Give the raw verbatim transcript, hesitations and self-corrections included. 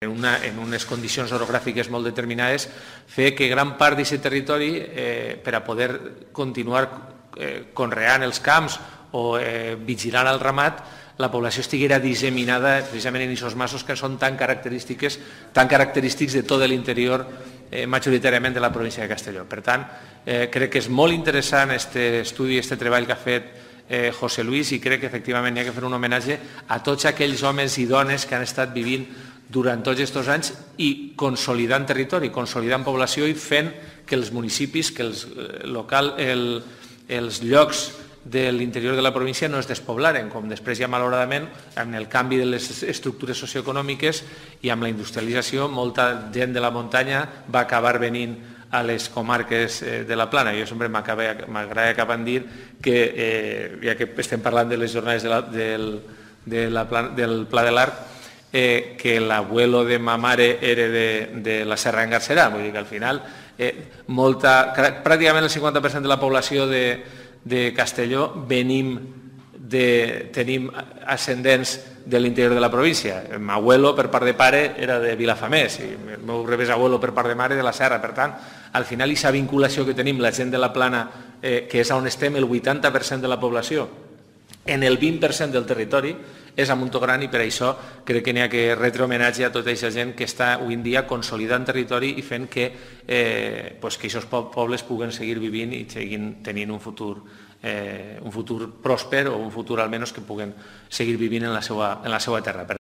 en, una, en unes condicions orogràfiques molt determinades, fer que gran part d'aquest territori, eh, per a poder continuar eh, conreant els camps o eh, vigilant el ramat, la població estiguera disseminada precisament en aquests massos que són tan característiques, tan característics de tot l'interior, eh, majoritàriament de la província de Castelló. Per tant, eh, crec que és molt interessant aquest estudi, aquest treball que ha fet eh, José Luis, i crec que efectivament hi ha que fer un homenatge a tots aquells homes i dones que han estat vivint durant tots aquests anys i consolidant territori, consolidant població i fent que els municipis, que els, local, el, els llocs de l'interior de la província no es despoblaren, com després ja malauradament amb el canvi de les estructures socioeconòmiques i amb la industrialització molta gent de la muntanya va acabar venint a les comarques de la Plana. Jo sempre m'agrada acabar de dir que, eh, ja que estem parlant de les jornades de la, del, de la plana, del Pla de l'Arc, Eh, que l'abuelo de ma mare era de, de la Serra d'Engarcerà, vull dir que al final eh, molta, pràcticament el cinquanta per cent de la població de, de Castelló venim de, tenim ascendents de l'interior de la província. El meu abuelo per part de pare era de Vilafamés i el meu rebesabuelo per part de mare de la Serra. Per tant, al final aquesta vinculació que tenim la gent de la Plana, eh, que és on estem el vuitanta per cent de la població, en el vint per cent del territori, és a Montogran, i per això crec que n'hi ha que retre homenatge a tota aquesta gent que està avui en dia consolidant territori i fent que eh, pues que aquests pobles puguen seguir vivint i seguin tenint un futur, eh, un futur pròsper o un futur almenys que puguen seguir vivint en la seva, en la seva terra.